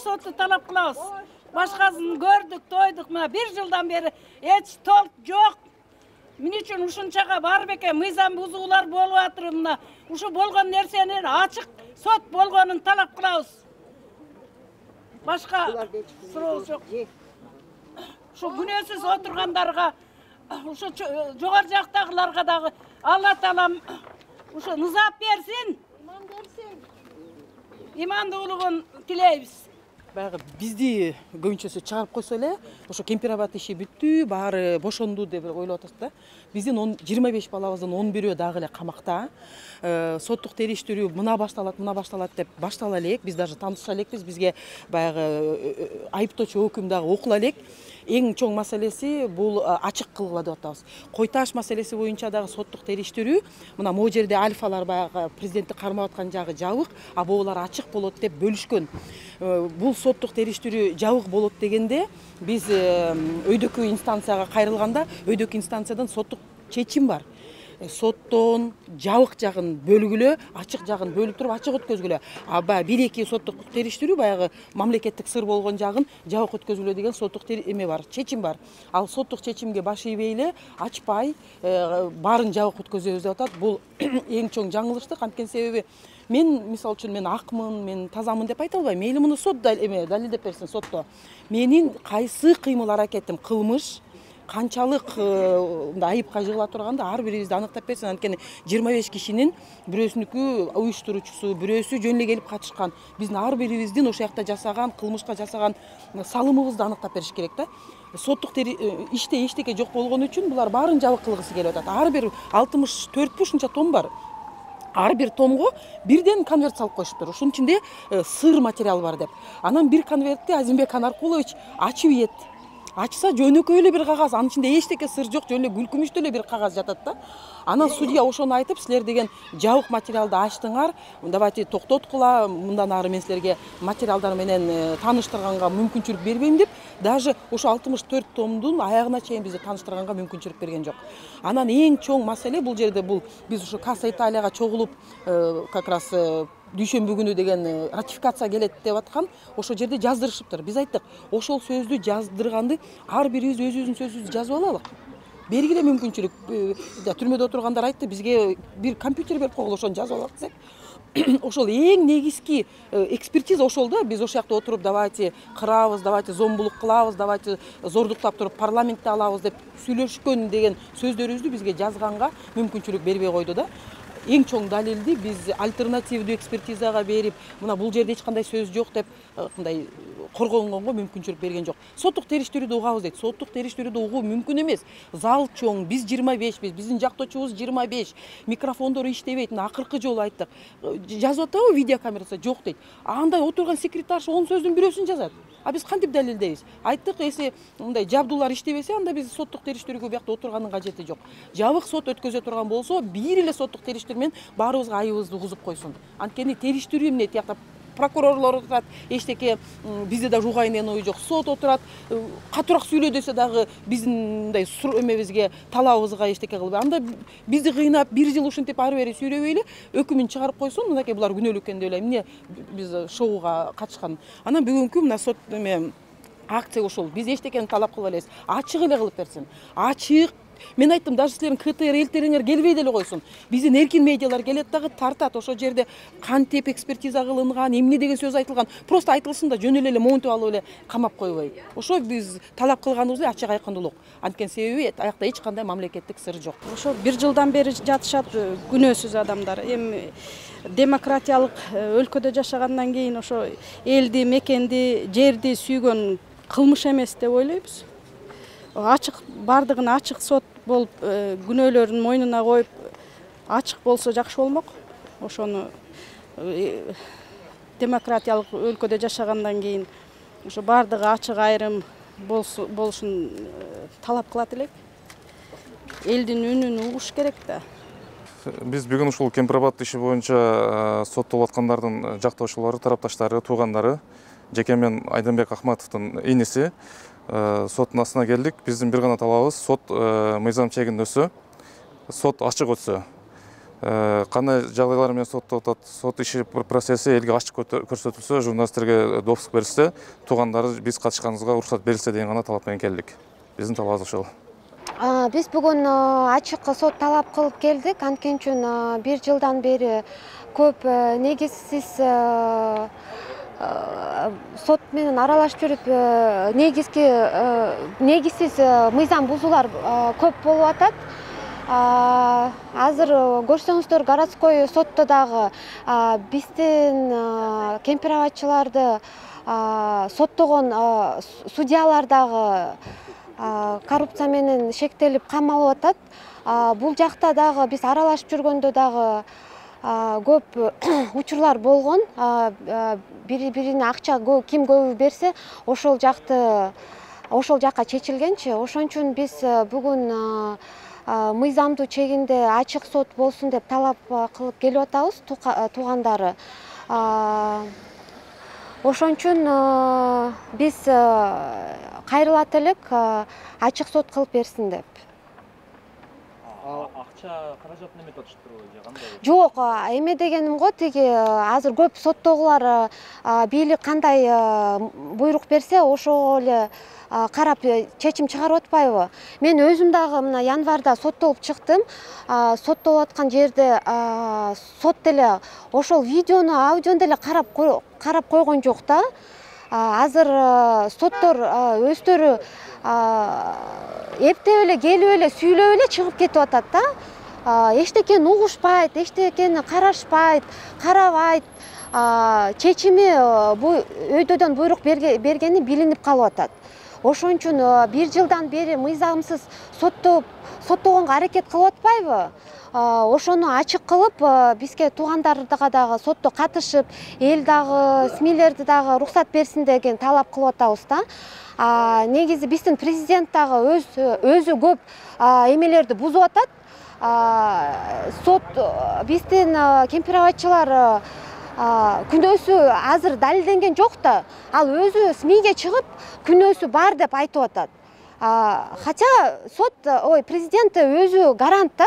соту талап кылабыз. Башкасын көрдүк, тойдук, мына 1 жылдан бери эч толк жок. Эмне үчүн ушунчага бар бекен мыйзам бузуулар болуп атыр. Мына ушу болгон нерсенин ачык сот болгонун талап кылабыз. Башка суроо жок. Ушу күнөөсүз отургандарга, ушу жогору жактагыларга дагы Алла Таалам ушу нызап берсин. Имандуулугун тилейбиз. Баягы бизди көбүнчөсү чыгарып койсо эле, ошо кемпирабад иши бүттү, баары бошонду деп ойлоп атат да. Биздин 25 балабыздын 11-өө дагы эле камакта. Соттук териштирүү мына башталат деп баштала элек. Биз даже тааныша элекпиз. Бизге баягы айыптоочу өкүм дагы окула элек. Эң чоң маселеси бул ачык кылгыла деп атабыз. Кой таш маселеси боюнча дагы соттук териштирүү, мына могу жерде альфалар баягы президентти кармап аткан жагы жабык, а буулар ачык болот деп бөлүшкөн. Бул соттук териштирүү жабык болот дегенде биз өйдөккө инстанцияга кайрылганда, өйдөккө инстанциядан соттук чечим бар. Соттон жабык жагын бөлгүлө, ачык жагын бөлүп туруп ачык өткөзгүлө. А баягы 1-2 соттук териштирүү баягы мамлекеттик сыр болгон жагын жабык өткөзгүлө деген соттук эме бар, чечим бар. Ал соттук чечимге баш ийбей эле, ачпай, баарын жабык өткөзөбүз деп атат. Бул эң чоң жаңылыштык. Анткени себеби мен мисалы үчүн мен акмын, мен тазамын деп айта албайм. Мейли муну сот далилдеп берсин сотто. Менин кайсы кыймыл аракетим кылмыш, канчалык айыпка жыгыла турганды ар бирибизди аныктап берсин. Анткени 25 кишинин бирөөсүнүкү уюштуруучусу, бирөөсү жөн эле келип катышкан. Биздин ар бирибиздин ошол жакта жасаган, кылмышка жасаган салымыбызды аныктап бериш керек да. Соттук иште эчтеке жок болгон үчүн булар баарын жабык кылгысы келип атат. Ар бир 64 ушунча том бар. Ар бир томго бирден конверт салып коюшуптур. Ушунун ичинде сыр материал бар деп. Анан бир конвертти Азимбек Анаркулович ачып ийет. Ачса жөнөкөй эле бир кагаз, анын ичинде эчтеке сыр жок, жөн эле күлкүмүчтүү эле бир кагаз жатат да. Анан судья ошону айтып, силер деген жабык материалды ачтыңар, давайте токтоткула, мындан ары мен силерге материалдар менен тааныштырганга мүмкүнчүлүк бербейм деп, даже ошо 64 томдун аягына чейин бизди тааныштырганга мүмкүнчүлүк берген жок. Анан эң чоң маселе бул жерде биз ошо Касса Италияга чогулуп, как раз дүйшөмбү күнү деген ратификация келет деп аткан, ошол жерде жаздырышыптыр. Биз айттык, ошол сөздү жаздырганды ар бирибиз өзүбүздүн сөзүбүздү жазып алалык. Бергиле мүмкүнчүлүк. Түрмөдө отургандар айтты, бизге бир компьютер берип койгула, ошону жазып алат десек. Ошол эң негизги экспертиза ошол да. Биз ошол жакта отуруп, давайте кырабыз, давайте зомбулук кылабыз, давайте зордуктап туруп парламентте алабыз деп сүйлөшкөн деген сөздөрүбүздү бизге жазганга мүмкүнчүлүк бербей койду да. Эң чоң далилди биз альтернативдүү экспертизага берип, мына бул жерде эч кандай сөз жок деп мындай коргонгонго мүмкүнчүлүк берген жок. Соттук териштирүүдө угабыз дейт. Соттук териштирүүдө угуу мүмкүн эмес. Зал чоң, биз 25 биздин жактоочубуз 25, микрофондор иштебейт. Мына акыркы жолу айттык. Жазып атабы видеокамерасы жок дейт. Андай отурган секретарша 10 сөздүн бирөөсүн жазат. А биз кантип далилдейбиз? Айттык, эси мындай жабдуулар иштебесе, анда биз соттук териштирүүгө биякта отурганын кажети жок. Жабык сот өткөзө турган болсо, бир эле соттук териштирүү менен баарыбызга айыбыбызды угузуп койсун. Анткени териштирүү эмне тиякта прокурорлор отурат, эчтеке бизде даже угайын ой жок. Сот отурат, катуураак сүйлө десе дагы биздин мындай эмебизге, талабыбызга эчтеке кылбай. Анда бизди кыйнап 1 жыл ушинтип ары бери сүйлөбөйлү, өкүмүн чыгарып койсун, мынакей булар күнөөлүү экен деп ойлойм. Эмне биз шоуга катышкан. Анан бүгүнкү мына сот акция ошол. Биз эчтекени талап кылбай элебиз. Ачык эле кылып берсин. Ачык. Мен айттым, даже силердин КТР элтериңер келбей деле койсун. Биздин эркин медиалар келет дагы тартат. Ошол жерде кантип экспертиза кылынган, эмне деген сөз айтылган, просто айтылсын да жөн эле монтип алып эле камап койбой. Ошо биз талап кылганыбыз ачык айкындуулук. Анткени себеби аякта эч кандай мамлекеттик сыр жок. Ошо 1 жылдан бери жатышат күнөөсүз адамдар. Эми демократиялык өлкөдө жашагандан кийин ошо элди, мекенди, жерди сүйгөн кылмыш эмес деп ойлойбуз. Ачык, бардыгын ачык сот болуп, күнөөлөрүн мойнуна коюп, ачык болсо жакшы болмок. Ошону демократиялык өлкөдө жашагандан кийин ошо бардыгы ачык айрым болушун талап кылат элек. Элдин үнүн угуш керек да. Биз бүгүн ушул Кемпирабад иши боюнча соттолуп аткандардын жактоочулары, тарапташтары, туугандары, жеке мен Айдынбек Акматовдун иниси соттун астына келдик. Биздин бир гана талабыбыз сот мыйзам чегинде өтсө, сот ачык өтсө. кандай жагдайлар менен соттоп атат, сот иши процесси элге ачык көрсөтүлсө, журналисттерге допуск берилсе, туугандары биз катышканыбызга уруксат берилсе деген гана талап менен келдик. Биздин талабыбыз ошол. Биз бүгүн ачык сот талап кылып келдик. Анткени үчүн 1 жылдан бери көп негизсиз сот менен аралашып жүрүп, негизсиз мыйзам бузуулар көп болуп атат. Азыр көрсөңүздөр, городской сотто дагы биздин кемпирабадчыларды соттогон судьялар дагы коррупция менен шектелип камалып атат. Бул жакта дагы биз аралашып жүргөндө дагы көп учурлар болгон. Бири-бирине акча ким көбү берсе, ошол жакка чечилгенчи. Ошон үчүн биз бүгүн мыйзамдуу чегинде ачык сот болсун деп талап кылып келип атабыз, туугандары. Ошон үчүн биз кайрылат элек ачык сот кылып берсин деп. Акча каражатын эметип атыштырбы же кандай? Жок, эме дегеним го, тиги азыр көп соттогулар бийлик кандай буйрук берсе, ошого эле карап чечим чыгарып атпайбы? Мен өзүм дагы мына январда соттолуп чыктым. Соттолуп аткан жерде сот деле ошол видеону, аудиону деле карап койгон жок да. Азыр соттор өздөрү эптеп эле, келип эле, сүйлөп эле чыгып кетип атат да. Эчтекени угушпайт, эчтекени карашпайт, карабайт. Чечими өйдөдөн буйрук бергени билинип калып атат. Ошон үчүн 1 жылдан бери мыйзамсыз соттогонго аракет кылып атпайбы? Ошону ачык кылып, бизге туугандарга дагы сотто катышып, эл дагы, СМИлерди дагы уруксат берсин деген талап кылып атабыз да. Негизи биздин президент дагы өзү көп эмелерди бузуп атат. Сот биздин кемпирабадчылар күнөөсү азыр далилденген жок да. Ал өзү СМИге чыгып, күнөөсү бар деп айтып атат. Хотя президент өзү гарант да.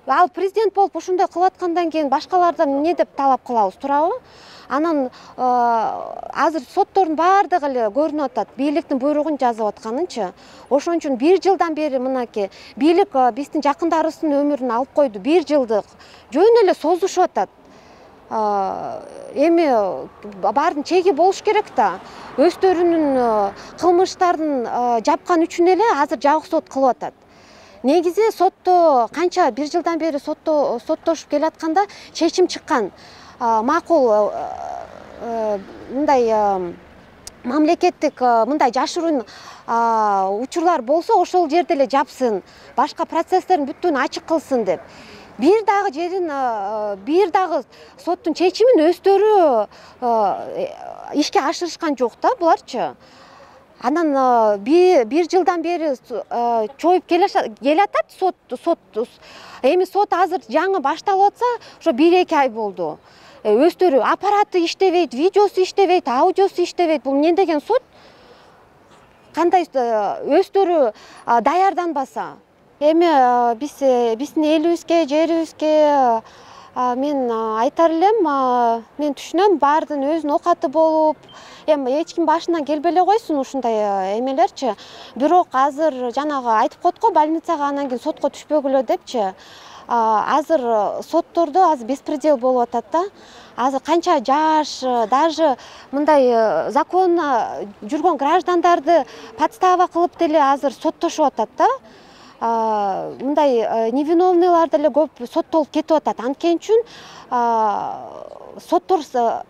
Ал президент болуп ошондой кылып аткандан кийин башкалардан эмне деп талап кылабыз, туурабы? Анан азыр соттордун баардыгы эле көрүнүп атат, бийликтин буйругун жазып атканынчы. Ошон үчүн 1 жылдан бери мынакей бийлик биздин жакындарыбыздын өмүрүн алып койду. 1 жылдык жөн эле созушуп атат. Эми баардын чеги болуш керек да. Өздөрүнүн кылмыштарын жапкан үчүн эле азыр жабык сот кылып атат. Негизи сотто канча 1 жылдан бери соттошуп келатканда чечим чыккан. Макул мындай мамлекеттик мындай жашыруун учурлар болсо, ошол жерде эле жапсын, башка процесстердин бүттүн ачык кылсын деп. Бир дагы соттун чечимин өздөрү ишке ашырышкан жок да буларчы. Анан 1 жылдан бери чоюп келатат сот. Эми сот азыр жаңы башталып атса, ошо 1-2 ай болду. Өздөрү аппараты иштебейт, видеосу иштебейт, аудиосу иштебейт. Бул эмне деген сот? Кандай өздөрү даярданбаса? Эми биздин элибизге, жерибизге мен айтар элем, мен түшүнөм, баардын өзүнүн окаты болуп, эми эч ким башынан келбей эле койсун ушундай эмелерчи. Бирок азыр жанагы айтып коет го, больницага анан кийин сотко түшпөгүлө депчи. Азыр соттордо азыр беспредел болуп атат да. Азыр канча жаш, даже мындай законно жүргөн граждандарды подстава кылып деле азыр соттошуп атат да. Мындай невиновныйлар деле көп соттолуп кетип атат. Анткени үчүн соттор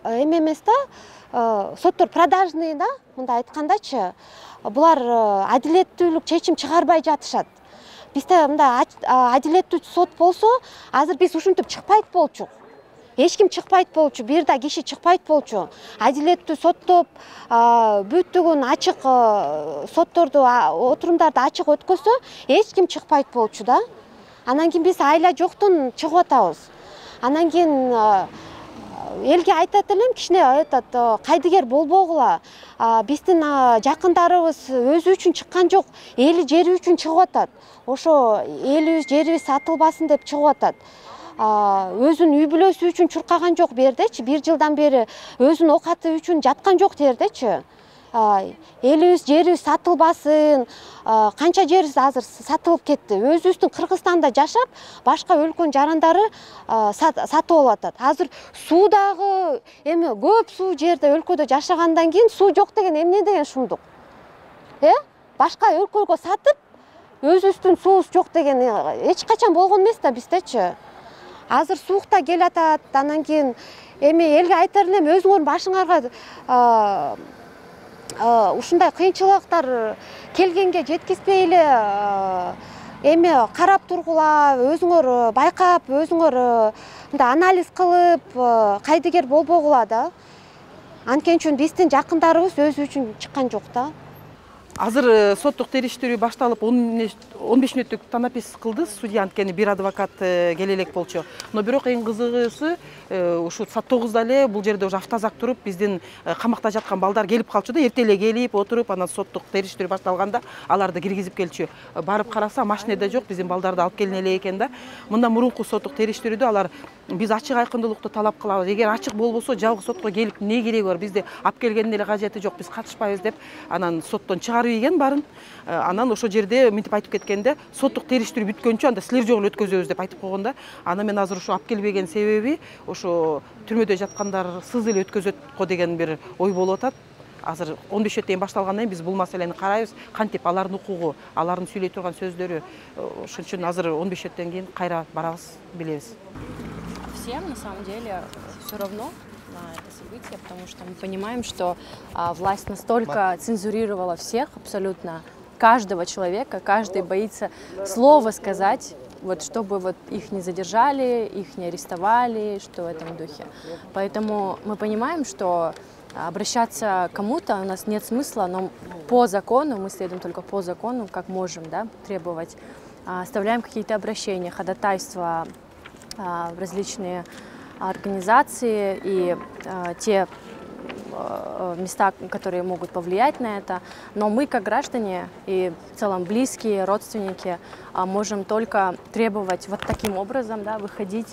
эме эмес да, соттор продажный да, мындай айткандачы. Булар адилеттүүлүк чечим чыгарбай жатышат. Бизде мындай адилеттүү сот болсо, азыр биз ушинтип чыкпайт болчук. Эч ким чыкпайт болчу, бир да киши чыкпайт болчу. Адилеттүү соттоп, бүттүгүн ачык сотторду, отурумдарды ачык өткөсө, эч ким чыкпайт болчу да. Анан кийин биз айла жоктон чыгып атабыз. Анан кийин элге айтат элем, кичине кайдыгер болбогула. Биздин жакындарыбыз өзү үчүн чыккан жок, эли жери үчүн чыгып атат. Ошо элибиз, жерибиз сатылбасын деп чыгып атат. өзүнүн үй бүлөсү үчүн чуркаган жок бул жердечи, 1 жылдан бери өзүнүн оокаты үчүн жаткан жок бул жердечи. Элибиз, жерибиз сатылбасын, канча жерибиз азыр сатылып кетти. Өзүбүздүн Кыргызстанда жашап, башка өлкөнүн жарандары сатып алып атат. Азыр суу дагы эми көп суу жерде өлкөдө жашагандан кийин суу жок деген эмне деген шумдук? Башка өлкөгө сатып, өзүбүздүн суубуз жок деген эч качан болгон эмес да биздечи. Азыр суукта келатат, анан кийин эми элге айтар элем, өзүңөрдүн башыңарга ушундай кыйынчылыктар келгенге жеткизбей эле эми карап тургула, өзүңөр байкап, өзүңөр мындай анализ кылып, кайдыгер болбогула да. Анткени үчүн биздин жакындарыбыз өзү үчүн чыккан жок да. Азыр соттук териштирүү башталып 15 мүнөттүк танапис кылды судья, анткени бир адвокат келе элек болчу. Но бирок эң кызыгысы ушу саат 9-да эле бул жерде уже автозак туруп, биздин камакта жаткан балдар келип калчу да, эрте эле келип отуруп, анан соттук териштирүү башталганда аларды киргизип келчү. Барып караса, машинеде жок, биздин балдарды алып келине элек экен да. Мындан мурунку соттук териштирүүдө алар биз ачык айкындуулукту талап кылабыз. Эгер ачык болбосо, жалгыз сотко келип не кереги бар? Бизди алып келгендин эле кажети жок, биз катышпайбыз деп, анан соттон чыгарып ийген барын. Анан ошол жерде мынтип айтып кеткенде, соттук териштирүү бүткөнчө анда силер жолу өткөзөбүз деп айтып койгон да. Анан мен азыр ушу алып келбеген себеби ошо түрмөдө жаткандар сыз эле өткөзөт го деген бир ой болуп атат. Азыр 15 чейин башталгандан кийин биз бул маселени карайбыз, кантип алардын укугу, алардын сүйлөй турган сөздөрү. Ошон үчүн азыр 15 кийин кайра барабыз, билебиз. Всем на самом деле все равно на это событие, потому что мы понимаем, что власть настолько цензурировала всех, абсолютно каждого человека, каждый боится слова сказать, вот, чтобы вот их не задержали, их не арестовали, что в этом духе. Поэтому мы понимаем, что обращаться к кому-то у нас нет смысла, но по закону, мы следуем только по закону, как можем, да, требовать. Оставляем какие-то обращения, ходатайства в различные организации и те места, которые могут повлиять на это. Но мы, как граждане и в целом близкие, родственники, можем только требовать вот таким образом, да, выходить,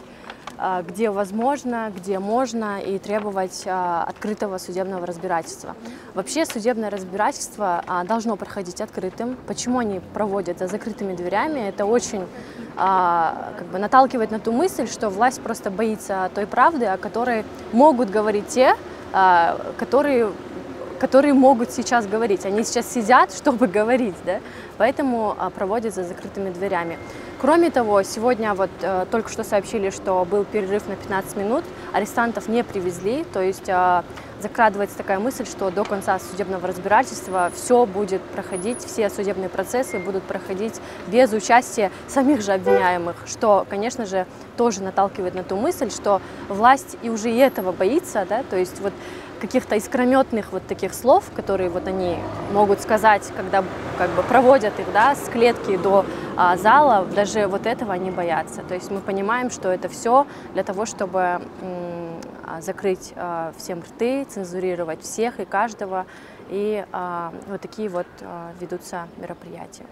где возможно, где можно, и требовать открытого судебного разбирательства. Вообще судебное разбирательство должно проходить открытым. Почему они проводят за закрытыми дверями? Это очень как бы наталкивает на ту мысль, что власть просто боится той правды, о которой могут говорить те, которые могут сейчас говорить. Они сейчас сидят, чтобы говорить, да? Поэтому проводят за закрытыми дверями. Кроме того, сегодня вот только что сообщили, что был перерыв на 15 минут, арестантов не привезли, то есть закрадывается такая мысль, что до конца судебного разбирательства все будет проходить, все судебные процессы будут проходить без участия самих же обвиняемых, что, конечно же, тоже наталкивает на ту мысль, что власть и уже и этого боится, да, то есть вот каких-то искрометных вот таких слов, которые вот они могут сказать, когда как бы проводят их, да, с клетки до зала, даже вот этого они боятся. То есть мы понимаем, что это все для того, чтобы закрыть всем рты, цензурировать всех и каждого, и вот такие вот ведутся мероприятия.